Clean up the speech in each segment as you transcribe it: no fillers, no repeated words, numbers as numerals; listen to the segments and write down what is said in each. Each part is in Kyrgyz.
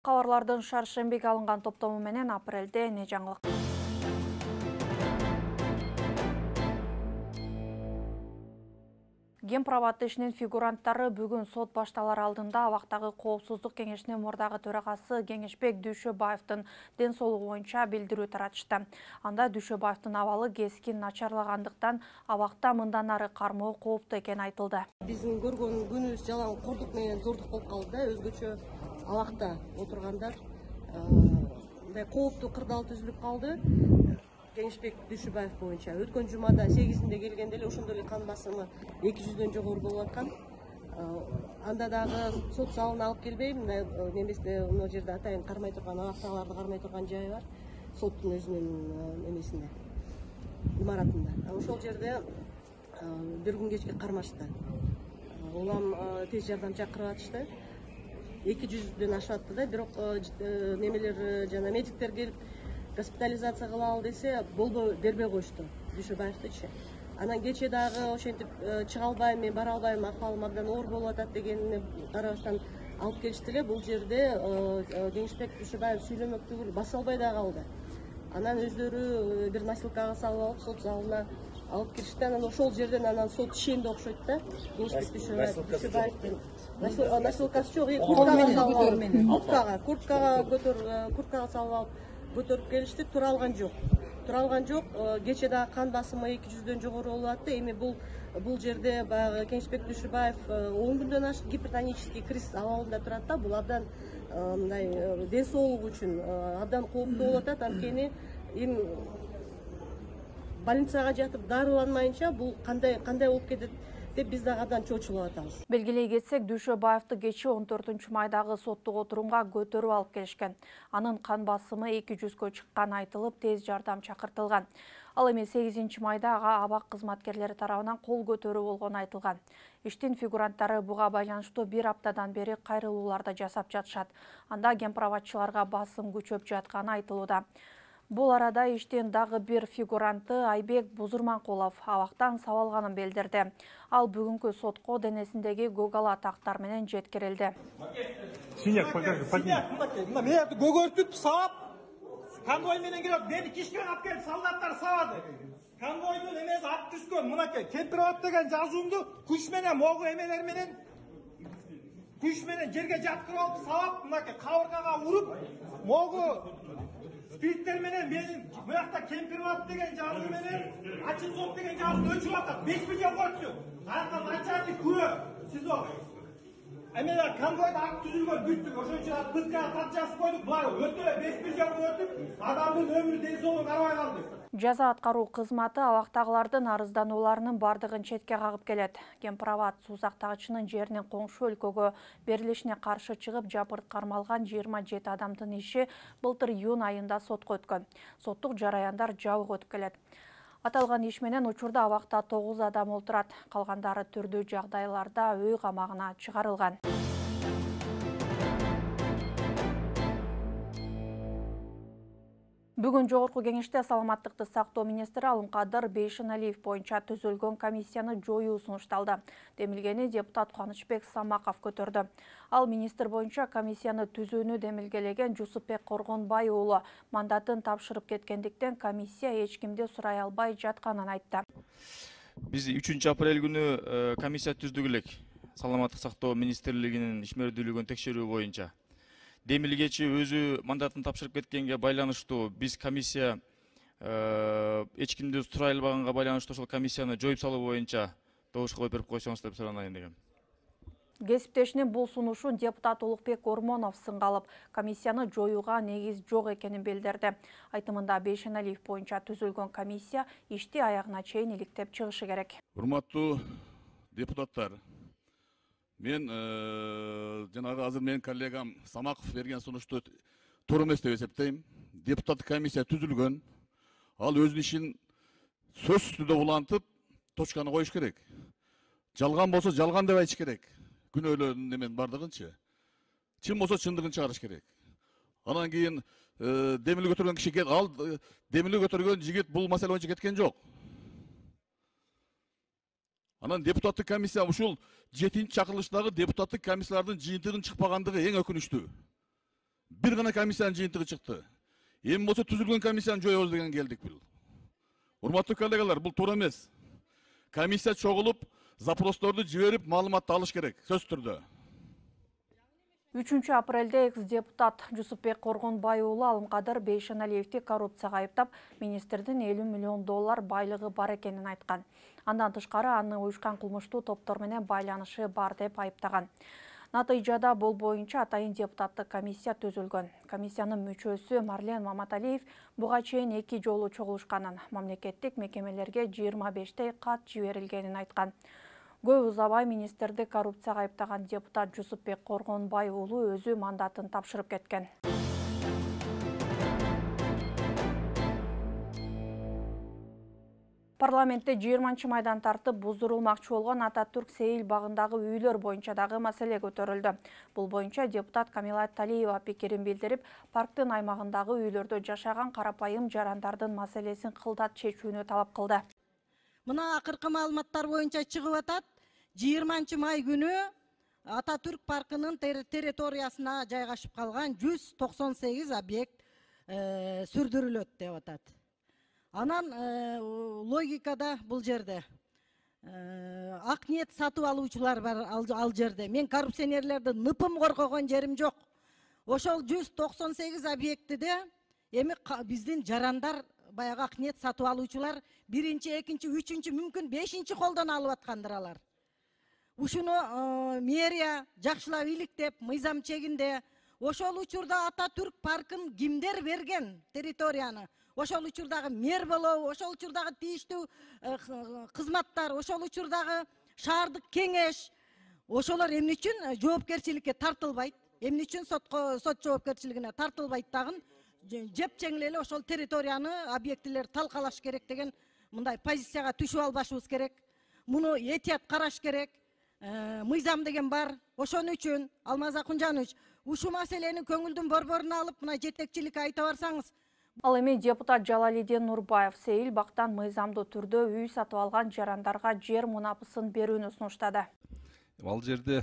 Кабарлардын шаршембиге алынган топтому менен апрелде эмне жаңылык? Гемпробат ишинин фигуранттары бүгүн сот башталар алдында абактагы коопсуздук кеңешинин мурдагы төрагасы Кеңешбек Дүйшөбаевдин ден соолугу боюнча билдирүү таратышты. Анда Дүйшөбаевдин абалы кескин начарлагандыктан абакта мындан ары кармоо кооптуу экени айтылды. Биздин көргөн күнүбүз жалаң кордук менен зордук болуп калды да, өзгөчө абакта отургандар мындай кооптуу кырдаал түзүлүп калды. Кеңешбек Дүйшөбаев боюнча өткөн жумада 8-inde келгенде эле ошондой эле кан басымы 200дөн жогору болуп аткан. Анда дагы сот залына алып келбей, мындай неместе мына жерде атайын кармай турган, абактагыларды кармай турган жайы бар. Соттун өзүнүн немесинде, имаратында. Ошол жерде бир күн кечке кармашты. Улам тез жардам чакырып атышты. 200дөн ашып атты да, бирок немелер жана медиктер келип госпитализация кылалы десе, болбой бербей коюшту Дүйшөбаевдичи. Анан кече дагы ошентип чыга албайм, мен бара албайм, акыбалым абдан оор болуп атат дегенине карабастан алып келишти эле. Бул жерде Кеңешбек Дүйшөбаев сүйлөмөк түгүл, баса албай да калды. Анан өздөрү бир носилкага салып алып, сот залына алып киришти. Анан ошол жерден анан сот ишенди окшойт да. Кеңешбек Дүйшөбаевдин носилкасы жок, курткага салып алып көтөрүп келишти. Тура алган жок. Кече дагы кан басымы 200дөн жогору болуп атты. Эми бул жерде баягы Кеңешбек Дүйшөбаев 10 күндөн ашык гипертонический криз абалында турат да. Бул абдан мындай ден соолугу үчүн абдан кооптуу болуп атат. Анткени эми больницага жатып дарыланмайынча бул кандай болуп кетет деп биз дагы абдан чочулуп атабыз. Белгилей кетсек, Дүйшөбаевди кечээ 14-майдагы соттук отурумга көтөрүп алып келишкен. Анын кан басымы 200гө чыкканы айтылып, тез жардам чакыртылган. Ал эми 8-майда ага абак кызматкерлери тарабынан кол көтөрүү болгону айтылган. Иштин фигуранттары буга байланыштуу бир аптадан бери кайрылууларды жасап жатышат. Анда гемпробатчыларга басым күчөп жатканы айтылууда. Бул арада иштин дагы бир фигуранты Айбек Бузурманкулов абактан сабалганын билдирди. Ал бүгүнкү сотко денесиндеги гөгала тактар менен жеткирилди. Синяк, мени көгөртүп сабап, конвой менен келип, мени кишкен алып келип солдаттар сабады. Конвойдун эмеси ат түскөн, мынакей Кемпироват деген жазуумду күч менен, могу эмелер менен күч менен жерге жаткырып алып сабап, мынакей кабыргага уруп, могу спирттер менен менин буякта Кемпироват деген жазуу менен ачык сот деген жазуу өчүп атат. 5 миллион койту. Арка начальник күбө. СИЗО. Эмелер конвойдо ак түзүлгөн бүттүк. Ошончо пыткага тат жазып койдук. Булар өтө 5 миллион өтүп, адамдын өмүрү ден соолугу карабай калды. Жаза аткаруу кызматы абактагылардын арызданууларынын бардыгын четке кагып келет. Гемпробат суузактагычынын жеринин коңшу өлкөгө берилишине каршы чыгып жапырт кармалган 27 адамдын иши былтыр июнь айында сотко өткөн. Соттук жараяндар жабык өтүп келет. Аталган иш менен учурда абакта 9 адам отурат. Калгандары түрдүү жагдайларда үй камагына чыгарылган. Бүгүн жогорку кеңеште саламаттыкты сактоо министри Алымкадыр Бейшеналиев боюнча түзүлгөн комиссияны жоюу сунушталды. Демилгени депутат Кубанычбек Самаков көтөрдү. Ал министр боюнча комиссияны түзүүнү демилгелеген Жусупбек Коргонбай уулу мандатын тапшырып кеткендиктен комиссия эч кимди сурай албай жатканын айтты. Биз 3-апрель күнү комиссия түздүк элек. Саламаттык сактоо министрлигинин ишмердүүлүгүн текшерүү боюнча. Демилгечи өзү мандатын тапшырып кеткенге байланыштуу биз комиссия эч кимди сурай албаганга байланыштуу ошол комиссияны жоюп салуу боюнча добушка коюп берип койсоңуз деп суранайын дегем. Кесиптешинин бул сунушун депутат Улукбек Ормонов сынга алып, комиссияны жоюуга негиз жок экенин билдирди. Айтымында Бейшеналиев боюнча түзүлгөн комиссия ишти аягына чейин иликтеп чыгышы керек. Урматтуу депутаттар, мен жанагы азыр менин коллегам Самаков берген сунушту туура эмес деп эсептейм. Депутаттык комиссия түзүлгөн. Ал өзүнүн ишин сөзсүз түрдө улантып, точканы коюш керек. Жалган болсо жалган деп айтыш керек. Күнөөлөрдүн немен бардыгынчы. Чын болсо чындыгын чыгарыш керек. Анан кийин демилге көтөргөн киши ал демилге көтөргөн жигит бул маселе боюнча кеткен жок. Анан депутаттык комиссия ушул 7-чакырылыштагы депутаттык комиссиялардын жыйынтыгынын чыкпагандыгы эң өкүнүчтүү. бир гана комиссиянын жыйынтыгы чыкты. Эми болсо түзүлгөн комиссияны жоебуз деген келдик бул. Урматтуу коллегалар, бул туура эмес. Комиссия чогулуп, запросторду жиберип, маалыматты алыш керек, сөзсүз түрдө. 3 апрелде экс-депутат Жусупбек Коргонбай уулу Алымкадыр Бейшеналиевди коррупцияга айыптап, министрдин 50 миллион доллар байлыгы бар экенин айткан. Андан тышкары аны уюшкан кылмыштуу топтор менен байланышы бар деп айыптаган. Натыйжада бул боюнча атайын депутаттык комиссия түзүлгөн. Комиссиянын мүчөсү Марлен Маматалиев буга чейин 2 жолу чогулушканын, мамлекеттик мекемелерге 25 кат жиберилгенин айткан. Көп узабай министрди коррупцияга айыптаган депутат Жусупбек Коргонбай уулу өзү мандатын тапшырып кеткен. Парламентте 20 майдан тартып буздурулмакчы болгон Ататүрк Сейил багындагы үйлөр боюнча дагы маселе көтөрүлдү. Бул боюнча депутат Камила Талиева пикирин билдирип, парктын аймагындагы үйлөрдө жашаган карапайым жарандардын маселесин кылдат чечүүнү талап кылды. Мына акыркы маалыматтар боюнча чыгып атат. 20 май күнү Ататүрк паркынын территориясына жайгашып калган 198 объект сүрдүрүлөт деп атат. Анан логикада бул жерде ак ниет сатып алуучулар бар ал жерде. Мен коррупционерлерди ныпым коргогон жерим жок. Ошол 198 объектиде эми биздин жарандар баягы ак ниет сатып алуучулар 1-2, 3, мүмкүн 5 колдон алып аткандыр алар. Ушуну мэрия жакшылап иликтеп, мыйзам чегинде ошол учурда Ататүрк паркын кимдер берген территорияны? Ошол учурдагы мэр болобу, ошол учурдагы тийиштүү кызматтар, ошол учурдагы шаардык кеңеш, ошолор эмне үчүн жоопкерчиликке тартылбайт? Эмне үчүн сот жоопкерчилигине тартылбайт дагы? Жепчеңил эле ошол территорияны объектилер талкалаш керек деген мындай позицияга түшүп албашыбыз керек. Муну этият караш керек. Мыйзам деген бар. Ошон үчүн Алмаз Акунжанович ушул маселени көңүлдүн борборуна алып, мына жетекчиликке айта барсаңыз. Ал эми депутат Жалалидин Нурбаев Сейил бактан мыйзамдуу түрдө үй сатып алган жарандарга жер мунапысын берүүнү сунуштады. Ал жерде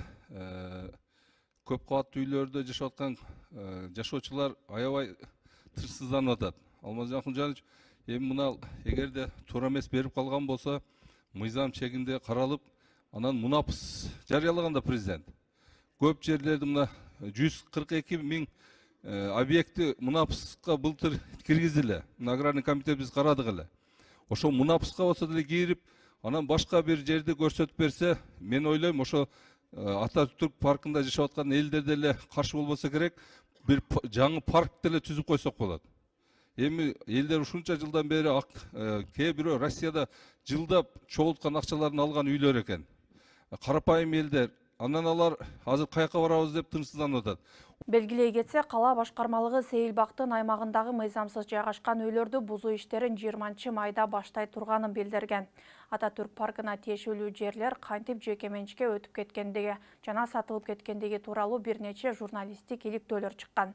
көп кабаттуу үйлөрдө жашап аткан жашоочулар аябай тынчсызданып атат. Алмаз Акунжанович эми мына эгерде туура эмес берип калган болсо, мыйзам чегинде каралып, анан мунапыс жарыялаганда президент көп жерлерди мына 142 миң объекти мунапыска былтыр киргизиле. Аграрный комитет биз карадык эле. Ошол мунапыска болсо деле кирип, анан башка бир жерди көрсөтүп берсе, мен ойлойм ошо Ататүрк паркында жашап аткан элдер деле каршы болбосо керек, бир жаңы парк деле түзүп койсок болот. Эми элдер ушунча жылдан бери кээ бирөө Россияда жылдап чогулткан акчаларын алган үйлөр экен. Карапайым элдер, анан алар азыр каяка барабыз деп тынчсызданып атат. Белгилей кетсе, кала башкармалыгы Сейил бактын аймагындагы мыйзамсыз жайгашкан үйлөрдү бузуу иштерин 20 майда баштай турганын билдирген. Ататүрк паркына тиешелүү жерлер кантип жеке менчикке өтүп кеткендиги жана сатылып кеткендиги тууралуу бир нече журналисттик иликтөөлөр чыккан.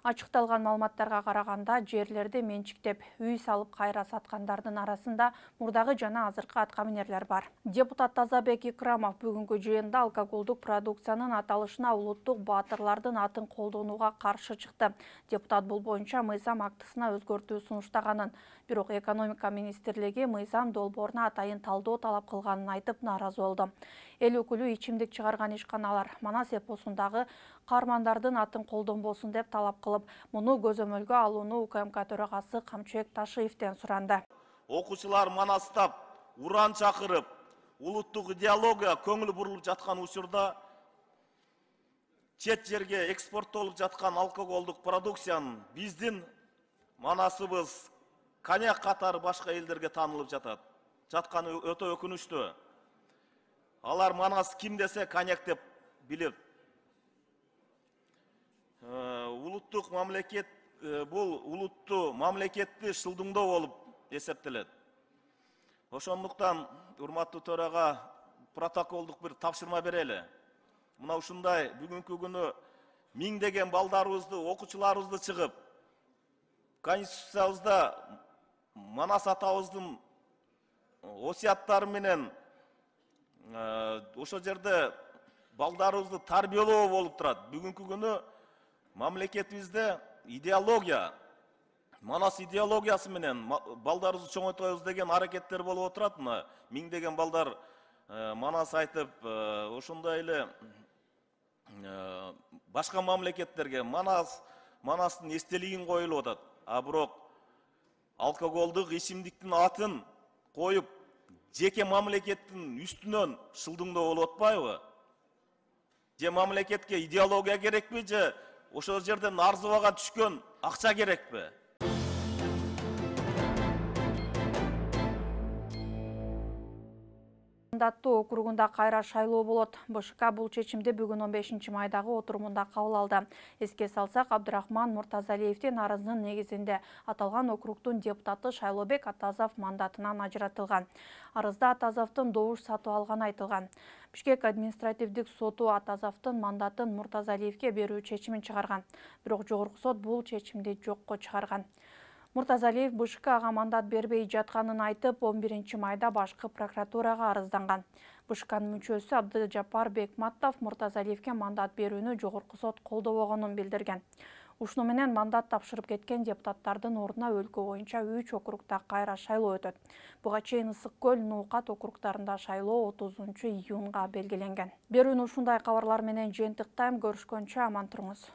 Ачыкталган маалыматтарга караганда, жерлерди менчиктеп үй салып кайра саткандардын арасында мурдагы жана азыркы аткаминерлер бар. Депутат Тазабек Икрамов бүгүнкү жыйында алкоголдук продукциянын аталышына улуттук баатырлардын атын колдонууга каршы чыкты. Депутат бул боюнча мыйзам актысына өзгөртүү сунуштаганын, бирок экономика министрлиги мыйзам долбооруна атайын талдоо талап кылганын айтып нааразы болду. Эл өкүлү ичимдик чыгарган ишканалар Манас эпосундагы каармандардын атын колдонбосун деп талап кылып, муну көзөмөлгө алууну УКМК төрагасы Камчыбек Ташиевден суранды. Окуучулар Манастап уран чакырып, улуттук идеология көңүл бурулуп жаткан учурда чет жерге экспорттолуп жаткан алкоголдук продукциянын биздин Манасыбыз коньяк катары башка элдерге таанылып жатканы өтө өкүнүчтүү. Алар Манас ким десе коньяк деп билет. Улуттук мамлекет бул улуттуу мамлекетти шылдыңдоо болуп эсептелет. Ошондуктан урматтуу төрага протоколдук бир тапшырма берели. Мына ушундай бүгүнкү күнү миңдеген балдарыбызды, окуучуларыбызды чыгып, Конституциябызда Манас атабыздын осуяттары менен ошол жерде балдарыбызды тарбиялоо болуп турат. Бүгүнкү күнү мамлекетибизде идеология, Манас идеологиясы менен балдарыбызды чоңойтобуз деген аракеттер болуп отурат. Мына миңдеген балдар Манас айтып, ошондой эле башка мамлекеттерге Манастын эстелигин коюлуп атат. А бирок алкоголдук ичимдиктин атын коюп, жеке мамлекеттин үстүнөн шылдыңдоо болуп атпайбы? Же мамлекетке идеология керекпи, же ошол жерден арзыбага түшкөн акча керекпи? Мандаттуу округунда кайра шайлоо болот. БШК бул чечимди бүгүн 15 майдагы отурумунда кабыл алды. Эске салсак, Абдрахман Муртазалиевдин арызынын негизинде аталган округдун депутаты Шайлообек Атазов мандатынан ажыратылган. Арызда Атазовдун добуш сатып алганы айтылган. Бишкек административдик соту Атазовдун мандатын Муртазалиевге берүү чечимин чыгарган. Бирок жогорку сот бул чечимди жокко чыгарган. Муртазалиев БШКга мандат бербей жатканын айтып, 11 майда башкы прокуратурага арызданган. БШКнын мүчөсү Абдыжапар Бекматов Муртазалиевге мандат берүүнү жогорку сот колдобогонун билдирген. Ушуну менен мандат тапшырып кеткен депутаттардын ордуна өлкө боюнча 3 округда кайра шайлоо өтөт. Буга чейин Ысык көл, Нуукат округдарында шайлоо 30 июнга белгиленген. Берүүнү ушундай кабарлар менен жыйынтыктайм. Көрүшкөнчө аман туруңуз.